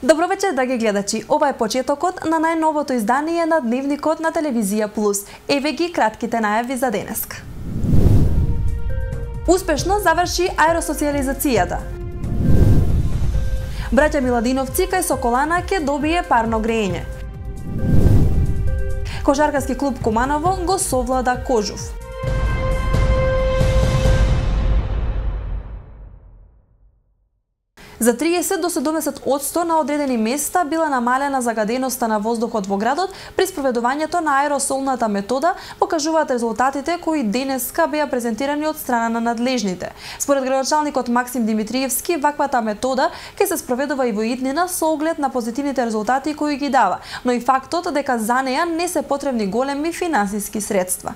Добро вечер, драги гледачи. Ова е почетокот на најновото издание на Дневникот на Телевизија Плюс. Еве ги кратките најави за денеска. Успешно заврши аеросоциализацијата. Браќа Миладиновци кај Соколана ќе добие парно грејење. Кошаркарски клуб Куманово го совлада Кожув. За 30 до 70% на одредени места била намалена загаденоста на воздухот во градот при спроведувањето на аеросолната метода, покажуваат резултатите кои денеска беа презентирани од страна на надлежните. Според градоначалникот Максим Димитриевски, ваквата метода ќе се спроведува и во иднина со оглед на позитивните резултати кои ги дава, но и фактот дека за неа не се потребни големи финансиски средства.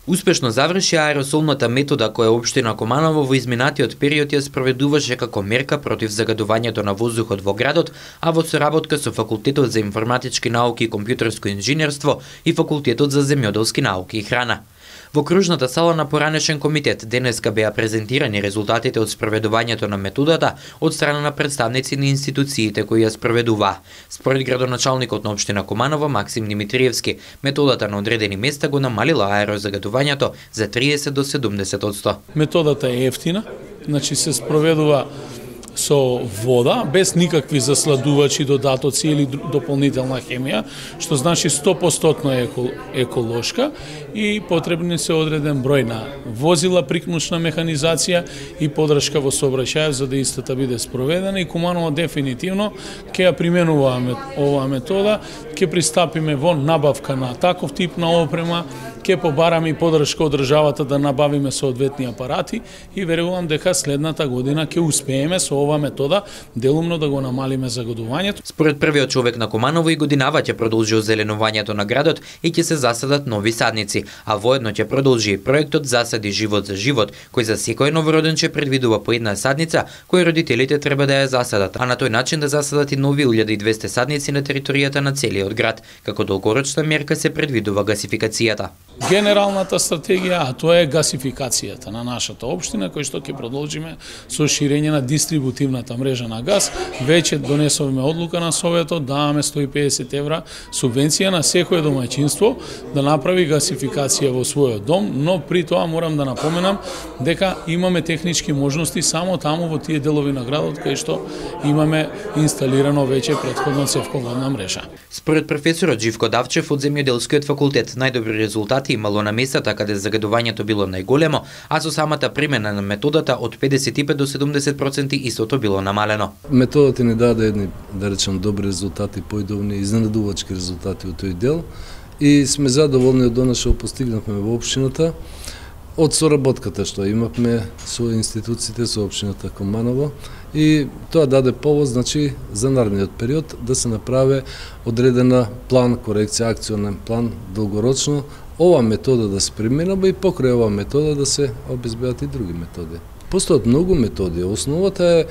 Успешно заврши аеросолната метода која општина Куманово во изминатиот период ја спроведуваше како мерка против загадувањето на воздухот во градот, а во соработка со Факултетот за информатички науки и компјутерско инженерство и Факултетот за земјоделски науки и храна. Во кружната сала на поранешен комитет денеска беа презентирани резултатите од спроведувањето на методата од страна на представници на институциите кои ја спроведуваа. Според градоначалникот на општина Куманово Максим Димитриевски, методата на одредени места го намалила аерозагадувањето за 30 до 70%. Методата е ефтина, значи се спроведува со вода, без никакви засладувачи, додатоци или дополнителна хемија, што значи 100% еколошка и потребни се одреден број на возила, прикнучна механизација и подршка во сообраќајот за да истата биде спроведена и Куманово дефинитивно ќе ја применува оваа метода, ќе пристапиме во набавка на таков тип на опрема, ќе побараме и подршка од државата да набавиме соодветни апарати и верувам дека следната година ќе успееме со оваа метода делумно да го намалиме загадувањето. Според првиот човек на Куманово и годинава ќе продолжи озеленувањето на градот и ќе се засадат нови садници, а воедно ќе продолжи и проектот Засади живот за живот, кој за секој новороденче предвидува по една садница кој родителите треба да ја засадат, а на тој начин да засадат и нови 1200 садници на територијата на целиот град. Како долгорочна мерка се предвидува гасификацијата. Генералната стратегија, а тоа е гасификацијата на нашата општина, кој што ќе продолжиме со ширење на дистрибутивната мрежа на газ. Веќе донесовме одлука на Советот, даваме 150 евра субвенција на секое домаќинство да направи гасификација во својот дом, но при тоа морам да напоменам дека имаме технички можности само таму во тие делови на градот кај што имаме инсталирано веќе претходно цевководна мрежа. Според професорот Живко Давчев од Земјоделскиот факултет, најдобри резултати имало на местата каде загадувањето било најголемо, а со самата примена на методата од 55 до 70% истото било намалено. Методата ни даде едни, да речем, добри резултати, поидовни, изненадувачки резултати од тој дел и сме задоволни од она што постигнавме во општината, од соработката што имавме со институциите, со општината Куманово и тоа даде повод, значи, за наредниот период да се направи одредена план, корекција, акционен план, долгорочно, ова метода да се применува и покрај оваа метода да се обезбедат и други методи. Постојат многу методи. Основата е,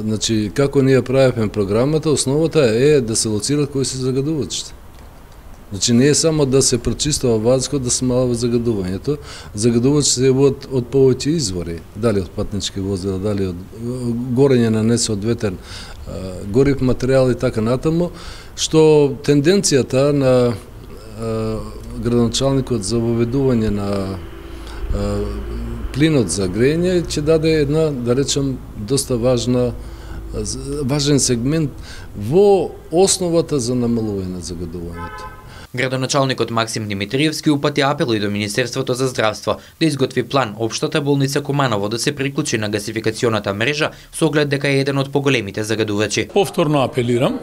значи, како ние правиме програмата, основата е да се лоцираат кои се загадувачите. Значи, не е само да се прочистува ваздухот, да смалува загадувањето. Загадувачите се јавуваат од повеќе извори, дали од патнички возила, дали од горење на несоодветен горив материјал и така натаму, што тенденцијата на градоначалникот за воведување на плинот за грејење ќе даде една, да речем, доста важен сегмент во основата за намалување на загадувањето. Градоначалникот Максим Димитриевски упати апел и до Министерството за здравство да изготви план општата болница Куманово да се приклучи на гасификационата мрежа со оглед дека е еден од поголемите загадувачи. Повторно апелирам,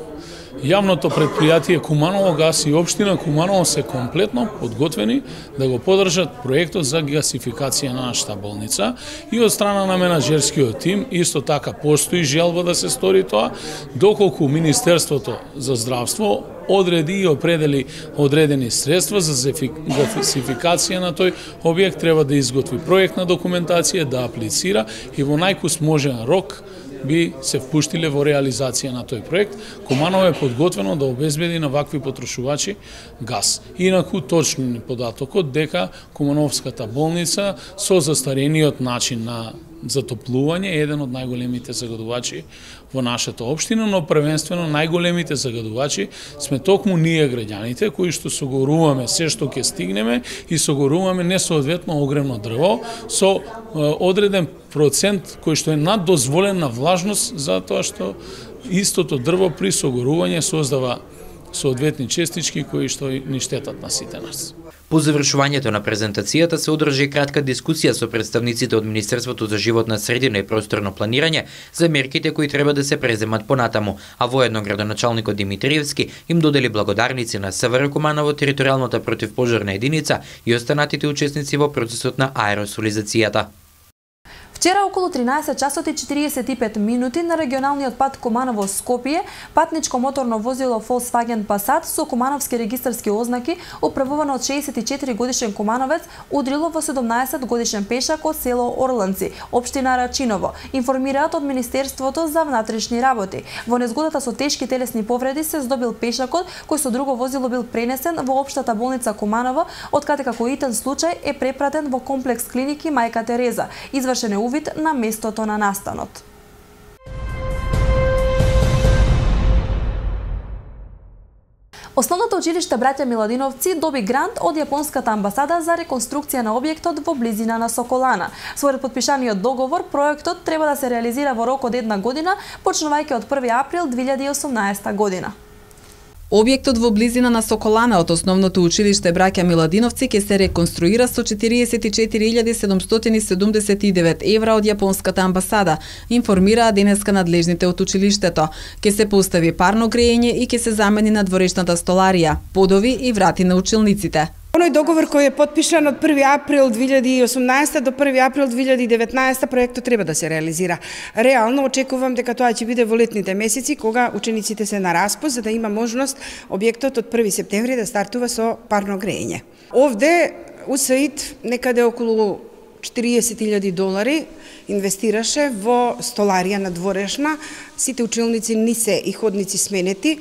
јавното предпријатие Куманово газ и општина Куманово се комплетно подготвени да го поддржат проектот за гасификација на нашата болница и од страна на менаџерскиот тим исто така постои желба да се стори тоа, доколку Министерството за здравство одреди и определи одредени средства за гасификација на тој објект, треба да изготви проектна документација, да аплицира и во најкус можен рок би се впуштиле во реализација на тој проект. Куманово е подготвено да обезбеди на вакви потрошувачи газ. Инаку точно податокот дека Кумановската болница со застарениот начин на затоплување е еден од најголемите загадувачи во нашата општина, но првенствено најголемите загадувачи сме токму ние граѓаните кои што согоруваме се што ќе стигнеме и согоруваме несоодветно огромно дрво со одреден процент кој што е над дозволена влажност, затоа што истото дрво при согорување создава соодветни честички кои што ни штетат на сите нас. По завршувањето на презентацијата се одржи кратка дискусија со представниците од Министерството за животна средина и просторно планирање за мерките кои треба да се преземат понатаму, а воедно градоначалникот Димитриевски им додели благодарници на СВР Куманово, територијалната противпожарна единица и останатите учесници во процесот на аеросолизацијата. Вчера околу 13 часот и 45 минути на регионалниот пат Куманово-Скопје, патничко моторно возило Volkswagen Passat со кумановски регистарски ознаки, управувано од 64 годишен кумановец, удрило во 17 годишен пешак од село Орланци, општина Рачиново, информираат од Министерството за внатрешни работи. Во незгодата со тешки телесни повреди се здобил пешакот, кој со друго возило бил пренесен во општата болница Куманово, откаде како итен случај е препратен во комплекс клиники Мајка Тереза. Извршен е увид на местото на настанот. Основното училиште Браќа Миладиновци доби грант од Јапонската амбасада за реконструкција на објектот во близина на Соколана. Според потпишаниот договор, проектот треба да се реализира во рок од 1 година, почнувајќи од 1 април 2018 година. Објектот во близина на Соколана од основното училиште Браќа Миладиновци ќе се реконструира со 44.779 евра од Јапонската амбасада, информираа денеска надлежните од училиштето. Ќе се постави парно грејење и ќе се замени надворешната столарија, подови и врати на училниците. Оној договор кој е потпишан од 1 април 2018 до 1 април 2019 проектот треба да се реализира. Реално очекувам дека тоа ќе биде во летните месеци кога учениците се на распост за да има можност објектот од 1 септември да стартува со парно грејење. Овде УСАИД некаде околу $40.000 инвестираше во столарија надворешна. Сите училници ни се и ходници сменети.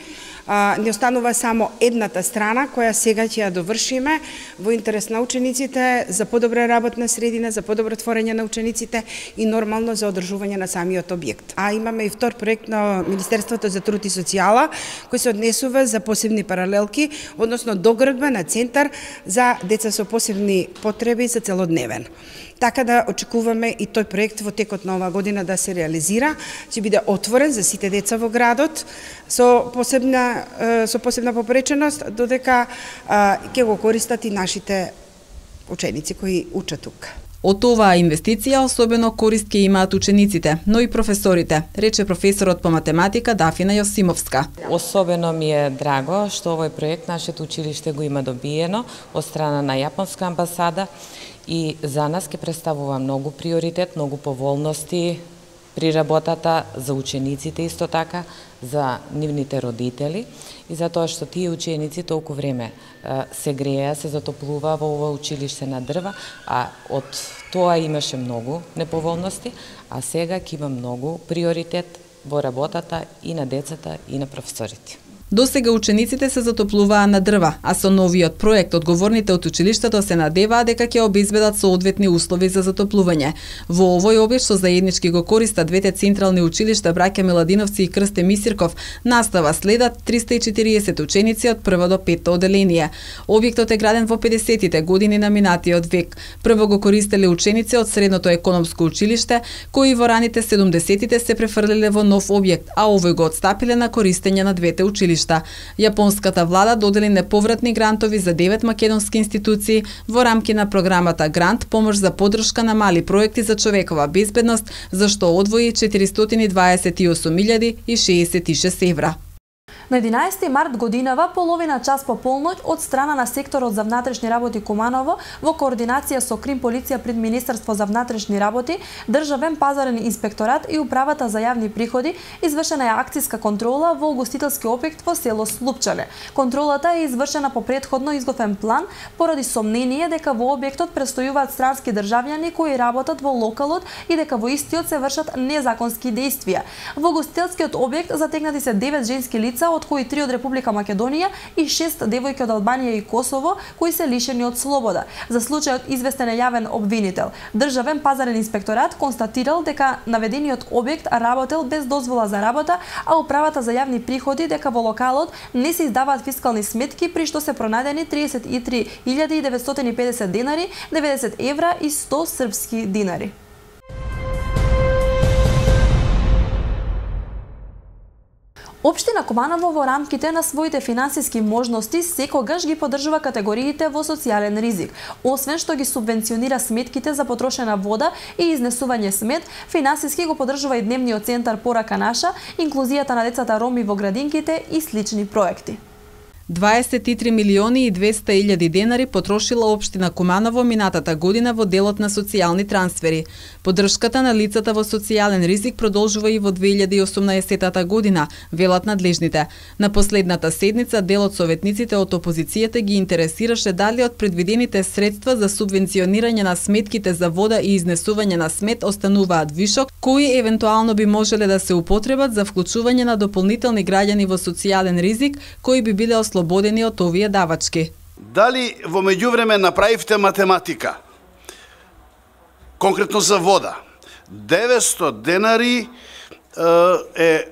Не останува само едната страна која сега ќе ја довршиме во интерес на учениците, за подобра работна средина, за подобро творење на учениците и нормално за одржување на самиот објект. А имаме и втор проект на Министерството за труд и социјала кој се однесува за посебни паралелки, односно доградба на центар за деца со посебни потреби за целодневен. Така да очекуваме и тој проект во текот на оваа година да се реализира, ќе биде отворен за сите деца во градот со посебна попреченост, додека ќе го користат и нашите ученици кои учат тука. Од оваа инвестиција особено корист ќе имаат учениците, но и професорите, рече професорот по математика Дафина Јосимовска. Особено ми е драго што овој проект нашето училиште го има добиено од страна на Јапонска амбасада и за нас ќе представува многу приоритет, многу поволности при работата за учениците исто така, за нивните родители и за тоа што тие ученици толку време се греја, се затоплува во ова училиште на дрва, а од тоа имаше многу неповолности, а сега ќе има многу приоритет во работата и на децата и на професорите. Досега учениците се затоплуваа на дрва, а со новиот проект одговорните од училиштето се надеваа дека ќе обезбедат соодветни услови за затоплување. Во овој објект што заеднички го користат двете централни училишта Браќа Миладиновци и Крсте Мисирков, настава следат 340 ученици од 1 до 5 оделение. Објектот е граден во 50-тите години на минатиот век. Прво го користеле ученици од Средното економско училиште, кои во раните 70-тите се префрлиле во нов објект, а овој го отстапиле на користење на двете училишта. Јапонската влада додели неповратни грантови за 9 македонски институции во рамки на програмата Грант помош за поддршка на мали проекти за човекова безбедност, за што одвои 428.066 евра. На 11 март годинава, половина час по полноќ, од страна на секторот за внатрешни работи Куманово, во координација со Крим полиција пред Министерство за внатрешни работи, Државен пазарен инспекторат и Управата за јавни приходи, извршена е акцијска контрола во угостителски објект во село Слупчале. Контролата е извршена по претходно изготвен план, поради сомнение дека во објектот престојуваат странски државјани кои работат во локалот и дека во истиот се вршат незаконски дејствија. Во угостителскиот објект затегнати се 9 женски лица од кои 3 од Република Македонија и 6 девојки од Албанија и Косово, кои се лишени од слобода. За случајот известен е јавен обвинител. Државен пазарен инспекторат констатирал дека наведениот објект работел без дозвола за работа, а управата за јавни приходи дека во локалот не се издаваат фискални сметки, при што се пронајдени 33.950 денари, 90 евра и 100 српски динари. Општина Куманово во рамките на своите финансиски можности секогаш ги поддржува категориите во социјален ризик. Освен што ги субвенционира сметките за потрошена вода и изнесување смет, финансиски го поддржува и дневниот центар Порака наша, инклузијата на децата роми во градинките и слични проекти. 23 милиони и 200 илјади денари потрошила општина Куманово минатата година во делот на социјални трансфери. Поддршката на лицата во социјален ризик продолжува и во 2018 година, велат надлежните. На последната седница дел од советниците од опозицијата ги интересираше дали од предвидените средства за субвенционирање на сметките за вода и изнесување на смет остануваат вишок, кои евентуално би можеле да се употребат за вклучување на дополнителни граѓани во социјален ризик, кои би биле ослободени од овие давачки. Дали во меѓувреме направивте математика? Конкретно за вода. 900 денари е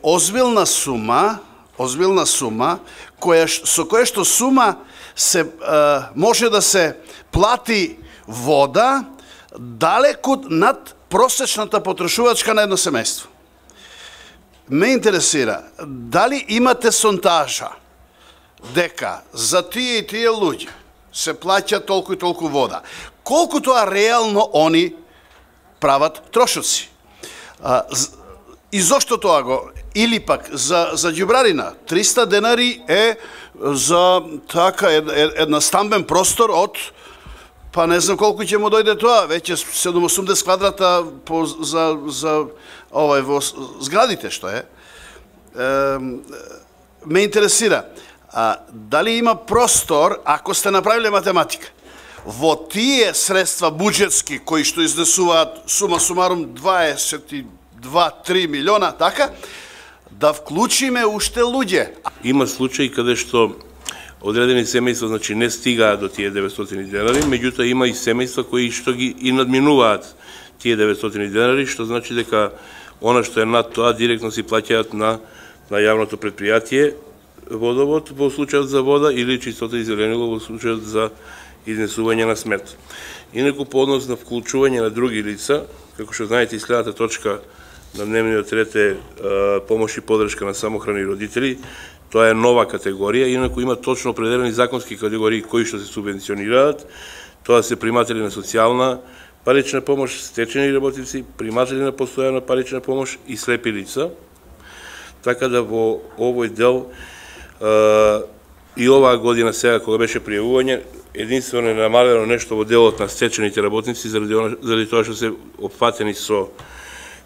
озбилна сума, со која што сума се може да се плати вода далеку над просечната потрошувачка на едно семејство. Ме интересира, дали имате сонтажа дека за тие и тие луѓе се плаќа толку и толку вода, колку тоа реално они прават трошоци. И зошто тоа го? Или пак за ѓубрарина 300 денари е за така една стамбен простор од па не знам колку ќе му дојде тоа, веќе 780 квадрата за во зградите што е. Ме интересира, дали има простор, ако сте направиле математика, во тие средства буџетски кои што изнесуваат сума сумарум 22-3 милиона, така, да вклучиме уште луѓе. Има случаи каде што одредени семејства, значи, не стигаат до тие 900 денари, меѓутоа има и семејства кои што ги и надминуваат тие 900 денари, што значи дека она што е над тоа директно си плаќаат на јавното предпријатие водовод во случајот за вода или чистота и зеленило во случајот за изнесување на смет. Инаку по однос на вклучување на други лица, како што знаете, следната точка на дневниот ред е помош и поддршка на самохрани родители. Тоа е нова категорија, инаку има точно определени законски категории кои што се субвенционираат. Тоа се приматели на социјална парична помош, стечени работници, приматели на постојана парична помош и слепи лица. Така да во овој дел и оваа година сега кога беше пријавување, единствено е намалено нешто во делот на стечените работници заради тоа што се опфатени со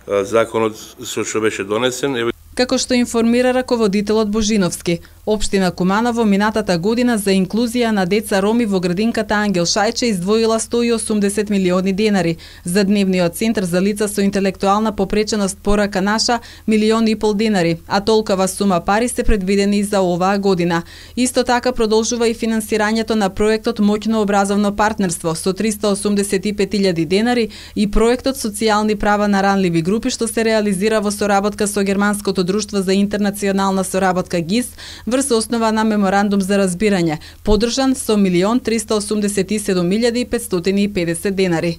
законот со што беше донесен. Како што информира раководителот Божиновски, општина Куманово минатата година за инклузија на деца роми во градинката Ангел Шајче издвоила 180 милиони денари, за дневниот центар за лица со интелектуална попреченост Порака наша 1,5 милиони денари, а толкова сума пари се предвидени за оваа година. Исто така продолжува и финансирањето на проектот Моќно образовно партнерство со 385.000 денари и проектот Социјални права на ранливи групи што се реализира во соработка со германското Друштво за интернационална соработка ГИС врз основа на меморандум за разбирање, поддржан со 1.387.550 денари.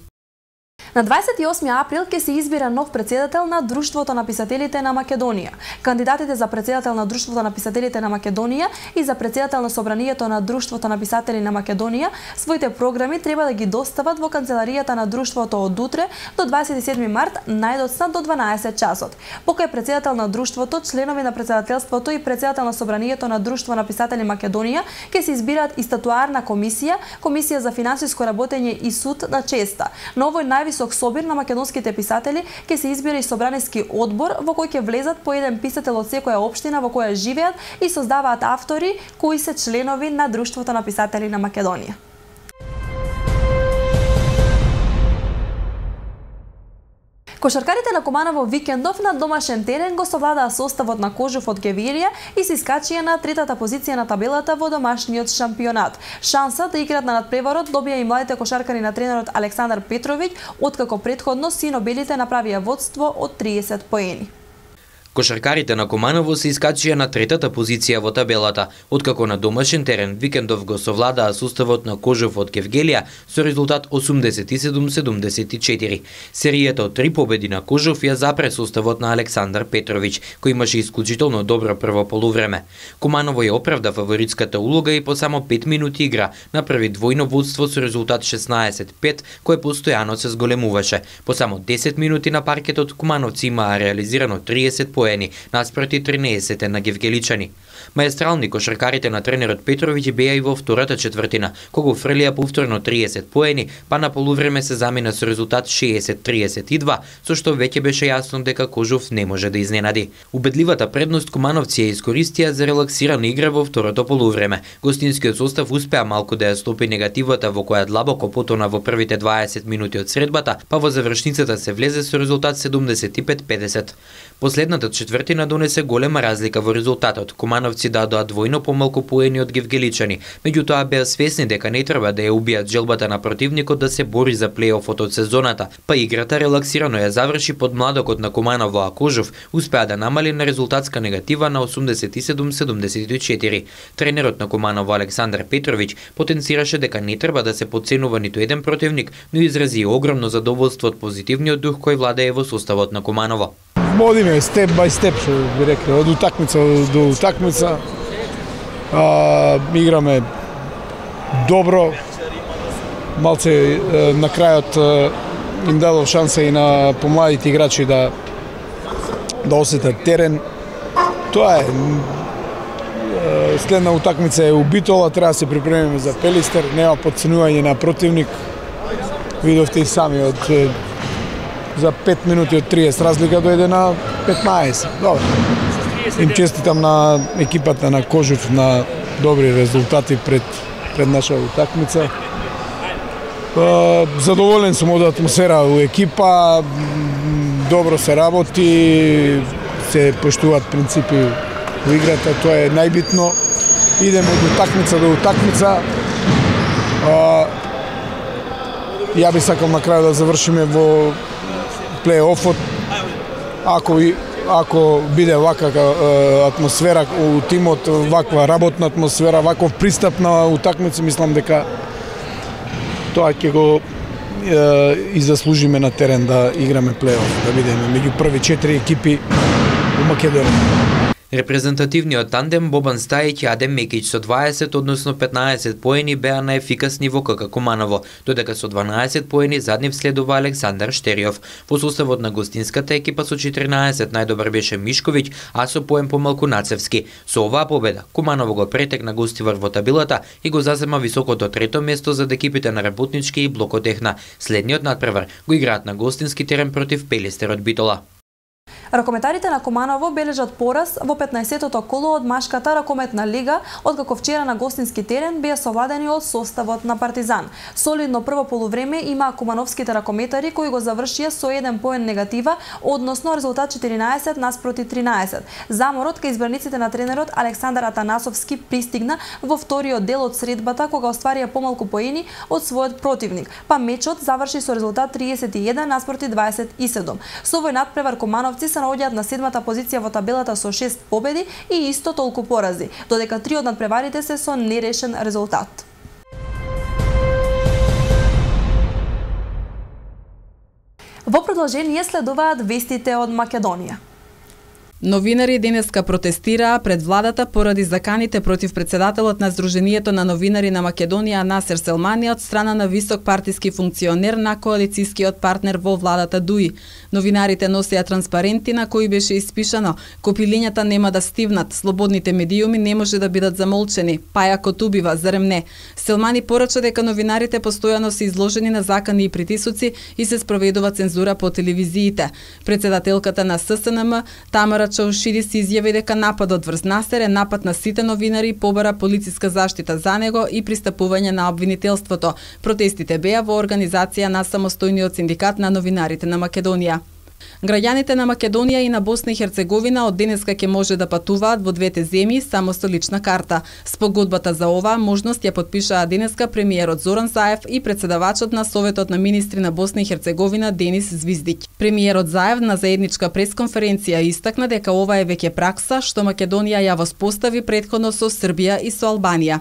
На 28 април ќе се избира нов претседател на Друштвото на писателите на Македонија. Кандидатите за претседател на Друштвото на писателите на Македонија и за претседател на Собранието на Друштвото на писатели на Македонија своите програми треба да ги достават во канцеларијата на Друштвото од утре до 27 март, најдоцна до 12 часот. Покај претседател на Друштвото, членови на претседателството и претседател на Собранието на Друштво на писатели Македонија ќе се избираат и статуарна комисија, комисија за финансиско работење и суд на честа. На овој највисок собир на македонските писатели ќе се избира и собраниски одбор во кој ќе влезат по еден писател од секоја општина во која живеат и создаваат автори кои се членови на Друштвото на писатели на Македонија. Кошаркарите на Куманово викендов на домашен терен го совладаа составот на Кожув од Гевелија и се искачија на третата позиција на табелата во домашниот шампионат. Шанса да играат на надпреварот добија и младите кошаркари на тренерот Александар Петровиќ, откако претходно синобелите направија водство од 30 поени. Кошаркарите на Куманово се искачија на третата позиција во табелата, откако на домашен терен викендов го совладаа составот на Кожув од Гевгелија со резултат 87-74. Серијата од 3 победи на Кожув ја запре составот на Александар Петровиќ, кој имаше исклучително добро прво полувреме. Куманово ја оправда фаворитската улога и по само 5 минути игра направи двојно водство со резултат 16-5, кој постојано се зголемуваше. По само 10 минути на паркетот Кумановци имаа реализирано 30 поени, наспроти 13 на гевгеличани. Маестрални кошаркарите на тренерот Петровиќ беа и во втората четвртина, кога фрлија повторно 30 поени, па на полувреме се замина со резултат 60-32, со што веќе беше јасно дека Кожув не може да изненади. Убедливата предност Кумановци ја искористија за релаксирана игра во второто полувреме. Гостинскиот состав успеа малку да ја стопи негативата во која длабоко потона во првите 20 минути од средбата, па во завршницата се влезе со резултат 75-50. Последната четвртина донесе голема разлика во резултатот. Кумановци дадоа двојно помалку поени од гевгеличани, меѓутоа беа свесни дека не треба да ја убијат желбата на противникот да се бори за плејофот од сезоната, па играта релаксирано ја заврши под младокот на Куманово, а Кожув успеа да намали на резултатска негатива на 87-74. Тренерот на Куманово Александар Петровиќ потенцираше дека не треба да се потценува ниту еден противник, но изрази огромно задоволство од позитивниот дух кој владее во составот на Куманово. Одиме степ бај степ, што би рекли, од утакмица до утакмица. Играме добро. Малце на крајот им дадов шанса и на помладите играчи да осетат терен. Тоа е. Следна утакмица е у Битола, треба да се припремиме за Пелистер, нема потценување на противник. Видовте и сами од за 5 минути од 30 разлика дојде на 15. Добро. Им честитам на екипата на Кожув на добри резултати пред наша утакмица. Задоволен сум од атмосфера у екипа, добро се работи, се поштуваат принципи у играта, тоа е најбитно. Идеме од утакмица до утакмица. Ја би сакал на крај да завршиме во плей-офот, ако биде ваква атмосфера у тимот, ваква работна атмосфера, ваков пристап на утакмици, мислам дека тоа ќе го и заслужиме на терен да играме плей-оф, да бидеме меѓу први 4 екипи у Македонија. Репрезентативниот тандем Бобан Стајич и Адем Мекич со 20, односно 15 поени беа најефикасни во КК Куманово, додека со 12 поени заднив следува Александар Штериов. Во составот на гостинската екипа со 14 најдобар беше Мишковиќ, а со поен помалку Нацевски. Со оваа победа Куманово го претекна гостивар во табелата и го зазема високото трето место зад екипите на Работнички и Блокотехна. Следниот надпревар го играат на гостински терен против Пелистер од Битола. Ракометарите на Куманово бележат пораз во 15-тото коло од машката ракометна лига, откако вчера на гостински терен беа совладени од составот на Партизан. Солидно прво полувреме имаа кумановските ракометари кои го завршија со 1 поен негатива, односно резултат 14 наспроти 13. Заморот кај избраниците на тренерот Александар Атанасовски пристигна во вториот дел од средбата кога остварија помалку поени од својот противник, па мечот заврши со резултат 31 наспроти 27. Со овој надпревар Кумановци се наоѓаат на 7-та позиција во табелата со 6 победи и исто толку порази, додека 3 од надпреварите се со нерешен резултат. Во продолжение следуваат вестите од Македонија. Новинари денеска протестираа пред владата поради заканите против председателот на Сдруженијето на новинари на Македонија Насер Селмани од страна на висок партиски функционер на коалицискиот партнер во владата ДУИ. Новинарите носеа транспаренти на кои беше испишано: "Копилињата нема да стивнат, слободните медиуми не може да бидат замолчени, пајакот убива, зарем не?" Селмани порача дека новинарите постојано се изложени на закани и притисоци и се спроведува цензура по телевизиите. Председателката на ССНМ Тамара Чаушири се изјави дека нападот врз Насер е напад на сите новинари и побара полициска заштита за него и пристапување на обвинителството. Протестите беа во организација на самостојниот синдикат на новинарите на Македонија. Граѓаните на Македонија и на Босна и Херцеговина од денеска ќе може да патуваат во двете земји само со лична карта. Спогодбата за оваа можност ја потпишаа денеска премиерот Зоран Заев и председавачот на Советот на министри на Босна и Херцеговина Денис Звиздиќ. Премиерот Заев на заедничка пресконференција истакна дека ова е веќе пракса што Македонија ја воспостави претходно со Србија и со Албанија.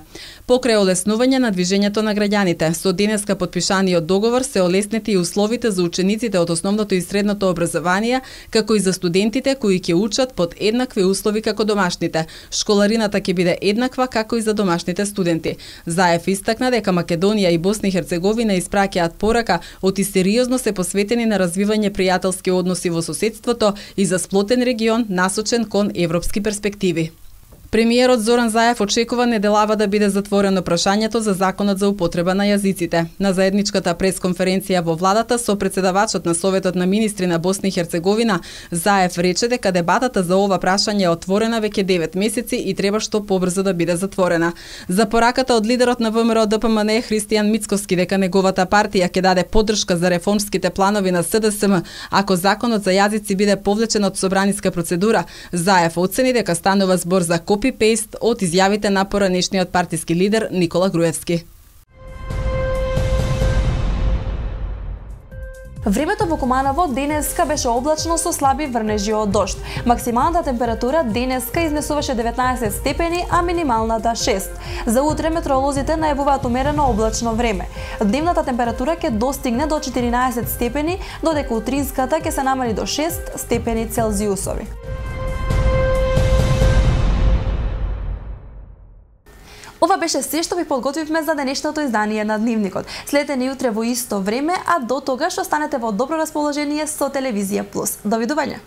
Покрај олеснување на движењето на граѓаните, со денеска потпишаниот договор се олеснети и условите за учениците од основното и средното образование, како и за студентите кои ќе учат под еднакви услови како домашните. Школарината ќе биде еднаква како и за домашните студенти. Заев истакна дека Македонија и Босна и Херцеговина испраќаат порака од и сериозно се посветени на развивање пријателски односи во соседството и за сплотен регион насочен кон европски перспективи. Премиерот Зоран Заев очекува неделава да биде затворено прашањето за законот за употреба на јазиците. На заедничката пресконференција во владата со председавачот на Советот на министри на Босна и Херцеговина, Заев рече дека дебатата за ова прашање е отворена веќе 9 месеци и треба што побрзо да биде затворена. За пораката од лидерот на ВМРО ДПМН Христијан Мицковски дека неговата партија ќе даде поддршка за реформските планови на СДСМ ако законот за јазици биде повлечен од собраниска процедура, Заев оцени дека станува збор за копи-пейст од изјавите на поранешниот партиски лидер Никола Груевски. Времето во Куманово денеска беше облачно со слаби врнежи од дожд. Максималната температура денеска изнесуваше 19 степени, а минималната 6. За утре метеоролозите најавуваат умерено облачно време. Дневната температура ќе достигне до 14 степени, додека утринската ќе се намали до 6 степени Целзиусови. Ова беше се што ви подготвивме за денешното издание на Дневникот. Следете ни утре во исто време, а до тогаш останете во добро расположение со Телевизија Плюс. Довидување!